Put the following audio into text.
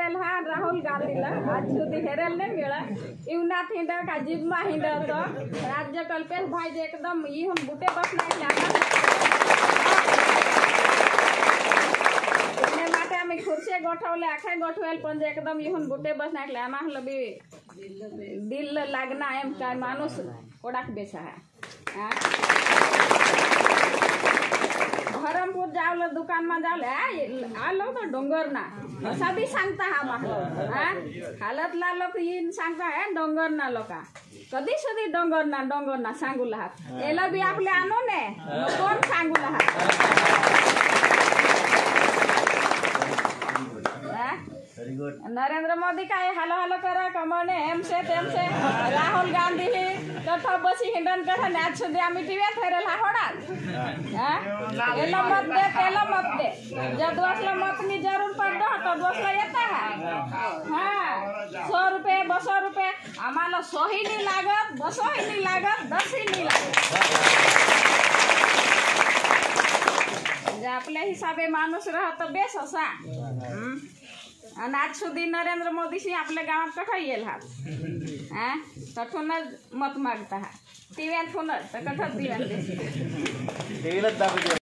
Herelle हा राहुल गांधीला आज सुधी हेरेल नाही मिळा इवनात हिंड का जिब्मा हिंड तो राज्य कल्पेश भाई जे एकदम इहून बुटे बसना એટલે માટે અમે ખુરશી ગોઠવલે આખે ગોઠવેલ પણ એકદમ ઇહુન બુટે બસના એટલે આમાં લબી દિલ લાગના એમ કાય માણસ કોડાક બેસા હે धरमपुर जावले दुकान में जावले आ लो तो डोंगर ना असा भी सांगता हा माहलो हालत ला लोक इन सांगता है डोंगर ना लोका कधी सुधी डोंगर ना सांगू लाहात एला बी आपले आनो ने कोण सांगू लाहात नरेंद्र मोदी का हालो हालो करा कमने एम से राहुल गांधी ही कथा बसी हिंडन कथा ने आज सुधी आम्ही टीव्ही फेरेल हा होडाल एला मत दे पेला मत दे जब दोसला मत नी जरूर पड़ो तो दोसला येता है हां 100 रुपये 200 रुपये आम्हाला 100 ही नहीं लागत 200 ही नहीं लागत 10 ही नहीं लागत जे आपल्या हिसाबे माणूस राहत बेस असा आणि आज सुधी नरेंद्र मोदी शी आपल्या गावात कठा येईल हा तठूनच मत मागता हा टीव्हीत फोन तर कठा टीव्हीत